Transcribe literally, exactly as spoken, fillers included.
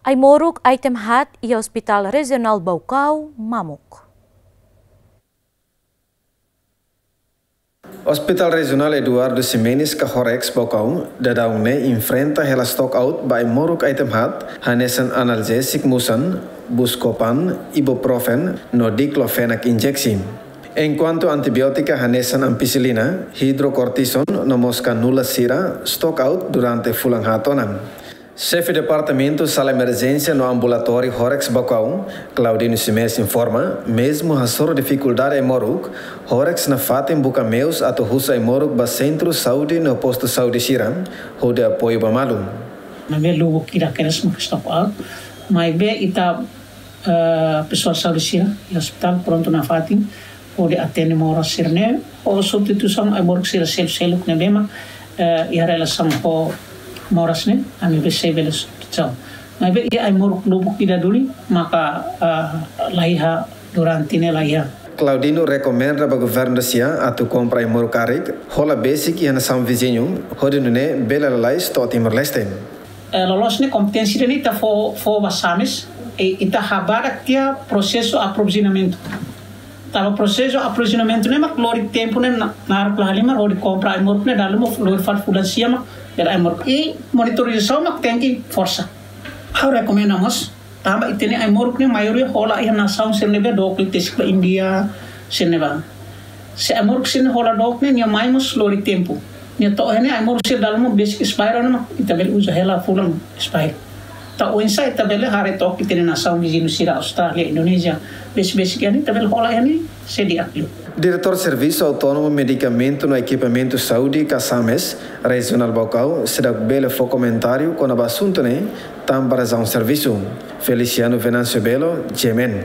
Ai-moruk, item haat iha Hospital Rejionál Baucau mamuk. Hospital Rejionál Eduardo Ximenes ka Horex Baucau daudaun ne'e enfrenta hela stock out ba ai-moruk item haat, hanesan analgésiku musan, Buscopan, ibuprofen no diclofenac injeksi. Enkuantu antibiótika hanesan ampicilina, hidrocortisone no mós kanula sira stock out durante fulan haat ona. Xefe Departamentu Sala Emerjénsia no Ambulatóriu Horex Baucau, Claudino Ximenes informa, mezmu hasoru difikuldade ai-moruk, Horex nafatin buka meius atu husu ai-moruk ba sentru saúde no postu saúde sira, hodi apoiu ba malu. Maibé lubuk ida kedas mak stock out, maibé ita, eh, pesoál saúde sira iha hospital prontu nafatin hodi atende moras sira-ne'e, ho substituisaun ai-moruk sira seluk-seluk ne'ebé mak, eh, iha relasaun ho moras ne'e, ami bele substituisaun. Maibé iha ai-moruk lubuk ida duni maka, eh, la iha durante ne'e la iha. Claudino rekomenda ba governu sira atu kompra ai-moruk karik, hola besik iha nasaun viziñu, hodi nune'e bele lalais to'o Timor-Leste. Eh, loloos ne'e kompeténsia ida-ne'e ita fó, fó ba SAMES, i ita habadak tiha prosesu aprovizionamentu. Tanba prosesu aprovizionamentu ne'e mak lori tempu ne'e na, naruk la halimar hodi kompra ai-moruk ne'e dala ruma lori fali fulan sia mak bele ai-moruk. I monitorizasaun mak tenke forsa. Ha'u rekomenda mós, tanba ita-nia ai-moruk ne'e maioria hola iha nasaun sira ne'ebé dook liu, tesik ba Índia, sira ne'ebá. Se ai-moruk sira-ne'e hola dook ne'e, nia mai mós lori tempu. Nia to'o iha ne'e ai-moruk sira dala ruma besik expire ona mak ita bele uza hela fulan expire. Entaun oinsá ita bele haree took ita-nia nasaun viziñu sira, Austrália, Indonézia, besik-besik iha ne'e ita bele hola iha ne'e sei di'ak liu. Diretór Servisu Autónomu Medikamentu no Ekipamentu Saúde ka SAMES, Rejionál Baucau, seidauk bele fó komentáriu kona-ba asuntu ne'e, tanba razaun servisu. Feliciano Venâncio Belo, G M N.